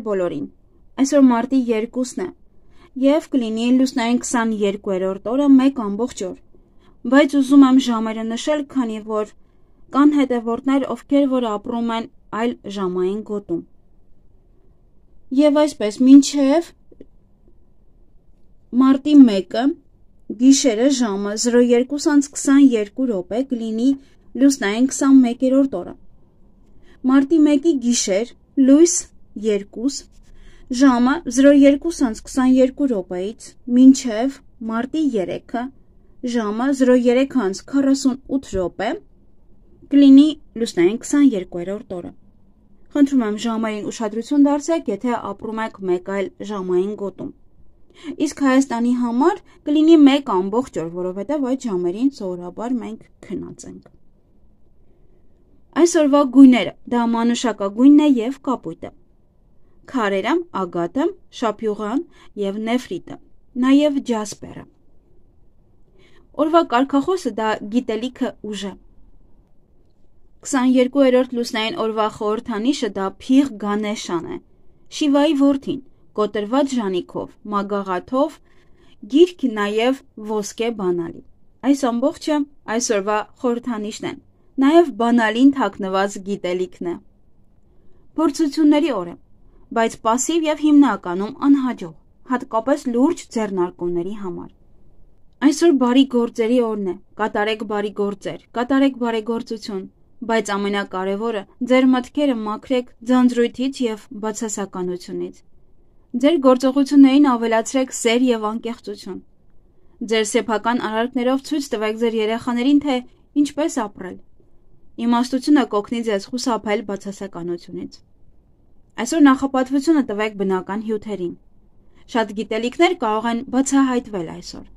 բոլորին, այսօր մարտի 2-ն է և կլինի լուսնային 22-րդ օրը 1 օր, բայց ուզում եմ ժամերը նշել, քանի որ կան հետևորդներ, ովքեր որ ապրում են այլ ժամային գոտում։ Եվ այսպես, մինչև մարտի 1-ը գիշերը ժամը 02:22 կլինի լուսնային 21-րդ օրը։ Մարտի 1-ի գիշեր լույս 2 ժամը 02:22 մինչև մարտի 3-ը ժամը 03:48 կլինի լուսնային 22-րդ օրը։ Խնդրում եմ ժամային ուշադրություն դարձրեք, եթե ապրում եք մեկ այլ ժամային գոտում։ Իսկ Հայաստանի համար կլինի 1 օր, որովհետև այդ ժամերին սովորաբար մենք քնած ենք։ Այսօրվա գույները դա մանուշակագույնն է և կապույտը, քարերը ագաթը, շապյուղան և նեֆրիտը, նաև ջասպերը։ Օրվա կարգախոսը դա գիտելիքը ուժ է։ 22-րդ լուսնային օրվա խորհրդանիշը դա Փիղ Գանեշան է, Շիվայի որդին, կոտրված ժանիքով, մագաղաթով, գիրք նաև ոսկե բանալի։ Այս ամբողջը այսօրվա խորհրդանիշն են, նաև բանալին թաքնված գիտելիքն է։ Փորձությունների օր է, բայց պասիվ և հիմնականում անհաջող, հատկապես լուրջ ձեռնարկումների համար։ Այսօր բարի գործերի օրն է, կատարեք բարի գործեր, կատարեք բարեգործություն, բայց ամենակարևորը ձեր մտքերը մաքրեք ձանձրույթից և բացասականությունից։ Ձեր գործողություններին ավելացրեք սեր և անկեղծություն։ Ձեր սեփական արարքներով ցույց տվեք ձեր երեխաներին, թե ինչպես ապրել։ Իմաստությունը կօգնի ձեզ խուսափել բացասականությունից։ Այսօր նախապատվությունը տվեք բնական հյութերին։ Շատ գիտելիքներ կարող են բացահայտվել այսօր։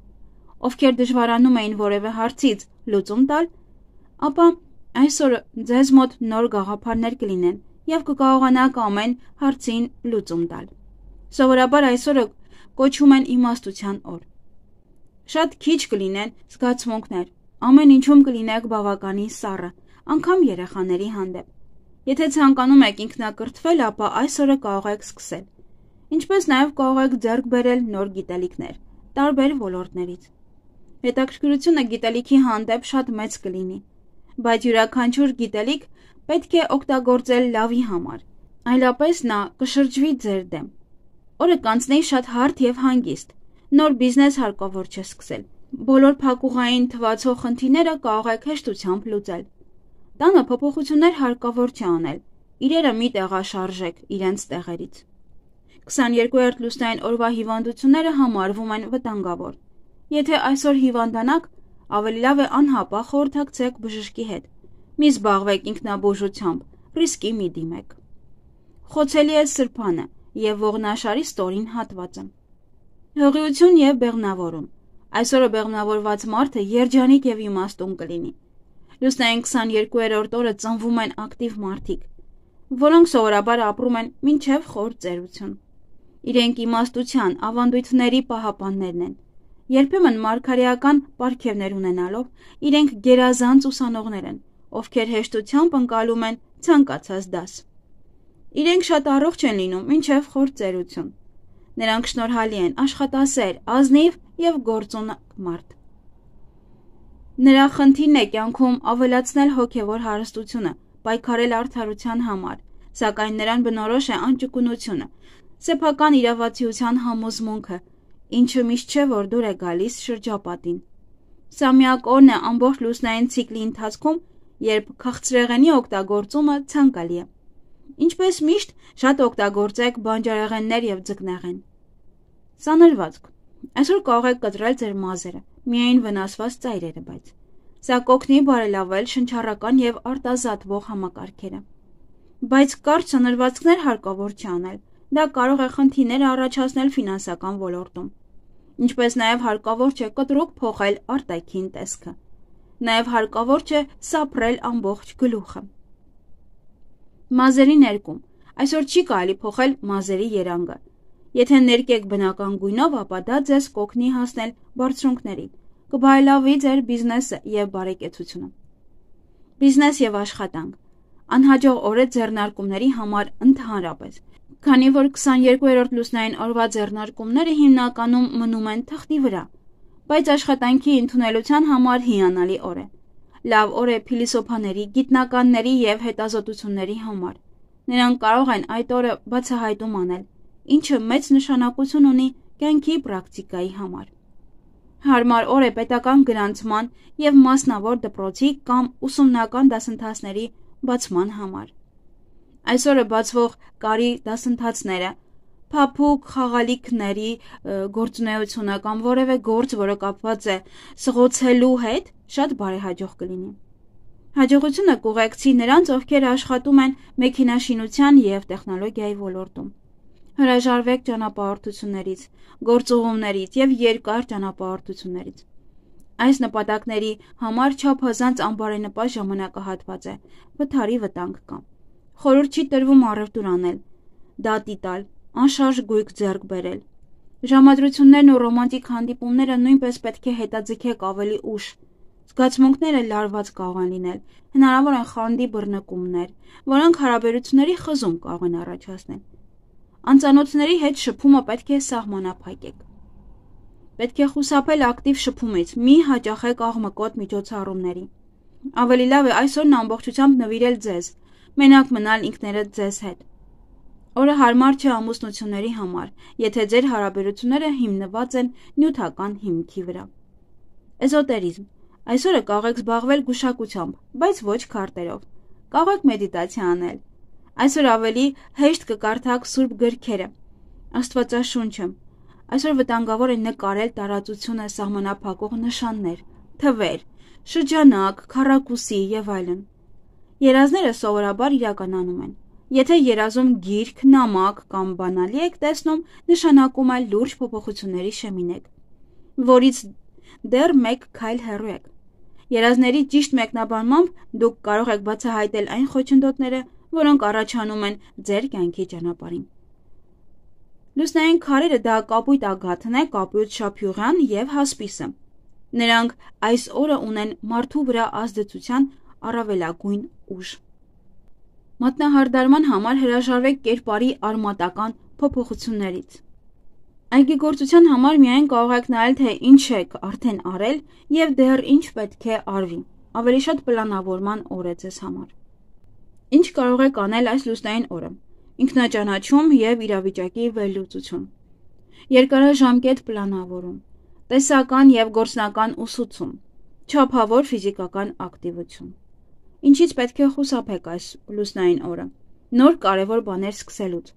Ովքեր դժվարանում էին որևէ հարցից լուծում տալ, ապա այսօր ձեզ մոտ նոր գաղափարներ կլինեն և կկարողանաք ամեն հարցին լուծում տալ։ Սովորաբար այսօրը կոչվում են իմաստության օր։ Շատ քիչ կլինեն զգացմունքներ, ամեն ինչում կլինեք բավականին սառը, անգամ երեխաների հանդեպ։ Եթե ցանկանում եք ինքնակրթվել, ապա այսօրը կարող եք սկսել։ Ինչպես նաև կարող եք ձեռք բերել նոր գիտելիքներ, տարբեր ոլորտներից։ Հետաքրքրությունը գիտելիքի հանդեպ շատ մեծ կլինի, բայց յուրաքանչյուր գիտելիք պետք է օգտագործել լավի համար, այլապես նա կշրջվի ձեր դեմ։ Օրը կանցնի շատ հարթ և հանգիստ, նոր բիզնես հարկավոր չէ սկսել։ Բոլոր փակուղային թվացող խնդիրները կարող եք հեշտությամբ լուծել։ Տանը փոփոխություններ հարկավոր չէ անել, իրերը մի տեղաշարժեք իրենց տեղերից։ 22-րդ լուսնային օրվա հիվանդությունները համարվում են վտանգավոր։ Եթե այսօր հիվանդանաք, ավելի լավ է անհապաղ խորհրդակցեք բժշկի հետ։ Մի զբաղվեք ինքնաբուժությամբ, ռիսկի մի դիմեք։ Խոցելի է սրբանը և ողնաշարի ստորին հատվածը։ Հղիություն և բեղմնավորում։ Այսօրը բեղմնավորված մարդը երջանիկ և իմաստուն կլինի։ Լուսնային 22-րդ օրը ծնվում են ակտիվ մարդիկ, որոնք սովորաբար ապրում են մինչև խոր ծերություն։ Իրենք իմաստության, ավանդույթների պահապաններն են։ Երբեմն մարգարեական պարգևներ ունենալով, իրենք գերազանց ուսանողներ են, ովքեր հեշտությամբ ընկալում են ցանկացած դաս։ Իրենք շատ առողջ են լինում մինչև խոր ծերություն։ Նրանք շնորհալի են, աշխատասեր, ազնիվ և գործունակ մարդ։ Նրա խնդիրն է կյանքում ավելացնել հոգևոր հարստությունը, պայքարել արդարության համար, սակայն նրան բնորոշ է անճկունությունը, սեփական իրավացիության համոզմունքը, ինչը միշտ չէ, որ դուր է գալիս շրջապատին։ Սա միակ օրն է ամբողջ լուսնային ցիկլի ընթացքում, երբ քաղցրեղենի օգտագործումը ցանկալի է։ Ինչպես միշտ, շատ օգտագործեք բանջարեղեններ և ձկնեղեն։ Սանրվածք։ Այսօր կարող եք կտրել ձեր մազերը, միայն վնասված ծայրերը, բայց սա կօգնի բարելավել շնչառական և արտազատվող համակարգերը։ Բայց կարճ սանրվածքներ հարկավոր չի անել, դա կարող է խնդիրներ առաջացնել ֆինանսական ոլորտում։ Ինչպես նաև հարկավոր չէ կտրուկ փոխել արտաքին տեսքը։ Նաև հարկավոր չէ սափրել ամբողջ գլուխը։ Մազերի ներկում։ Այսօր չի կարելի փոխել մազերի երանգը։ Եթե ներկեք բնական գույնով, ապա դա ձեզ կօգնի հասնել բարձրունքներին, կբարելավի ձեր բիզնեսը և բարեկեցությունը։ Բիզնես և աշխատանք։ Անհաջող օր է ձեռնարկումների համար ընդհանրապես։ Քանի որ 22-րդ լուսնային օրվա ձեռնարկումները հիմնականում մնում են թղթի վրա, բայց աշխատանքի ընդունելության համար հիանալի օր է։ Լավ օր է փիլիսոփաների, գիտնականների և հետազոտությունների համար։ Նրանք կարող են այդ օրը բացահայտում անել, ինչը մեծ նշանակություն ունի կյանքի պրակտիկայի համար։ Հարմար օր է պետական գրանցման և մասնավոր դպրոցի կամ ուսումնական դասընթացների բացման համար։ Այսօրը բացվող կարի դասընթացները, փափուկ խաղալիքների գործունեությունը կամ որևէ գործ, որը կապված է սղոցելու հետ, շատ բարեհաջող կլինի։ Հաջողությունը կուղեկցի նրանց, ովքեր աշխատում են մեքենաշինության և տեխնոլոգիայի ոլորտում։ Հրաժարվեք ճանապարհորդություններից, գործուղումներից և երկար ճանապարհորդություններից։ Այս նպատակների համար չափազանց անբարենպաստ ժամանակահատված է, վթարի վտանգ կա։ Խորհուրդ չի տրվում առևտուր անել, դատի տալ, անշարժ գույք ձեռք բերել։ Ժամադրություններն ու ռոմանտիկ հանդիպումները նույնպես պետք է հետաձգեք ավելի ուշ։ Զգացմունքները լարված կարող են լինել, հնարավոր են խանդի բռնկումներ, որոնք հարաբերությունների խզում կարող են առաջացնել։ Անծանոթների հետ շփումը պետք է սահմանափակեք։ Պետք է խուսափել ակտիվ շփումից, մի հաճախեք աղմկոտ միջոցառումների։ Ավելի լավ է այսօրն ամբողջությամբ նվիրել ձեզ, մենակ մնալ ինքներդ ձեզ հետ։ Օրը հարմար չէ ամուսնությունների համար, եթե ձեր հարաբերությունները հիմնված են նյութական հիմքի վրա։ Էզոտերիզմ։ Այսօրը կարող եք զբաղվել գուշակությամբ, բայց ոչ քարտերով։ Կարող եք մեդիտացիա անել։ Այսօր ավելի հեշտ կկարդաք սուրբ գրքերը, Աստվածաշունչը։ Այսօր վտանգավոր է նկարել տարածությունը սահմանափակող նշաններ, թվեր, շրջանակ, քառակուսի և այլն։ Երազները սովորաբար իրականանում են։ Եթե երազում գիրք, նամակ կամ բանալի եք տեսնում, նշանակում է լուրջ փոփոխությունների շեմին եք, որից դեռ մեկ քայլ հեռու եք։ Երազների ճիշտ մեկնաբանմամբ դուք կարող եք բացահայտել այն խոչընդոտները, որոնք առաջանում են ձեր կյանքի ճանապարհին։ Լուսնային քարերը դա կապույտ ագաթն է, կապույտ շափյուղյան և հասպիսը։ Նրանք այս օրը ունեն մարդու վրա ազդեցության առավելագույն ուժ։ Մատնահարդարման համար հրաժարվեք կերպարի արմատական փոփոխություններից։ Այգեգործության համար միայն կարող եք նայել, թե ինչ եք արդեն արել և դեռ ինչ պետք է արվի։ Ավելի շատ պլանավորման օր է ձեզ համար։ Ինչ կարող եք անել այս լուսնային օրը։ Ինքնաճանաչում և իրավիճակի վերլուծություն։ Երկարաժամկետ պլանավորում։ Տեսական և գործնական ուսուցում։ Չափավոր ֆիզիկական ակտիվություն։ Ինչից պետք է խուսափեք այս լուսնային օրը։ Նոր կարևոր բաներ սկսելուց։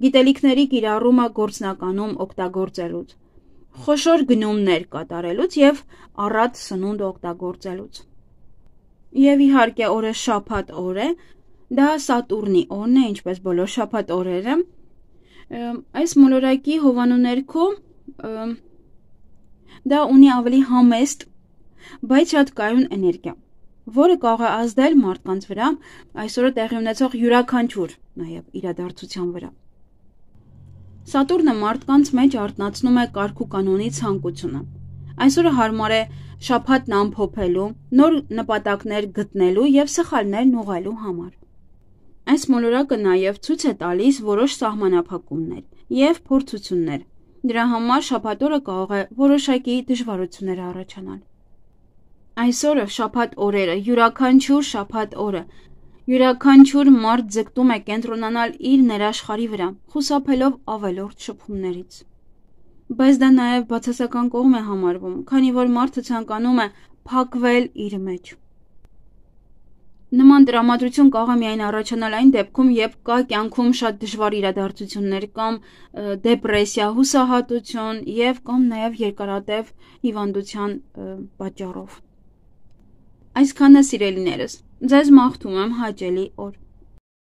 Գիտելիքների կիրառումը գործնականում օգտագործելուց, խոշոր գնումներ կատարելուց և առատ սնունդ օգտագործելուց։ Եվ իհարկե օրը շաբաթ օր է, դա Սատուրնի օրն է, ինչպես բոլոր շաբաթ օրերը։ Այս մոլորակի հովանու ներքո դա ունի ավելի համեստ, բայց շատ կայուն էներգիա, որը կարող է ազդել մարդկանց վրա այսօրը տեղի ունեցող յուրաքանչյուր նաև իրադարձության վրա։ Սատուրնը մարդկանց մեջ արթնացնում է կարգ ու կանոնի ցանկությունը։ Այսօրը հարմար է շաբաթն ամփոփելու, նոր նպատակներ գտնելու և սխալներն ուղղելու համար։ Այս մոլորակը նաև ցույց է տալիս որոշ սահմանափակումներ և փորձություններ։ Դրա համար շաբաթ օրը կարող է որոշակի դժվարություններ առաջանալ։ Այսօրը շաբաթ օրերը, յուրաքանչյուր շաբաթ օրը, յուրաքանչյուր մարդ ձգտում է կենտրոնանալ իր ներաշխարհի վրա, խուսափելով ավելորդ շփումներից։ Բայց դա նաև բացասական կողմ է համարվում, քանի որ մարդը ցանկանում է փակվել իր մեջ։ Նման տրամադրություն կարող է միայն առաջանալ այն դեպքում, երբ կա կյանքում շատ դժվար իրադարձություններ կամ դեպրեսիա, հուսահատություն և կամ նաև երկարատև հիվանդության պատճառով։ Այսքանը սիրելիներս, ձեզ մաղթում եմ հաճելի օր։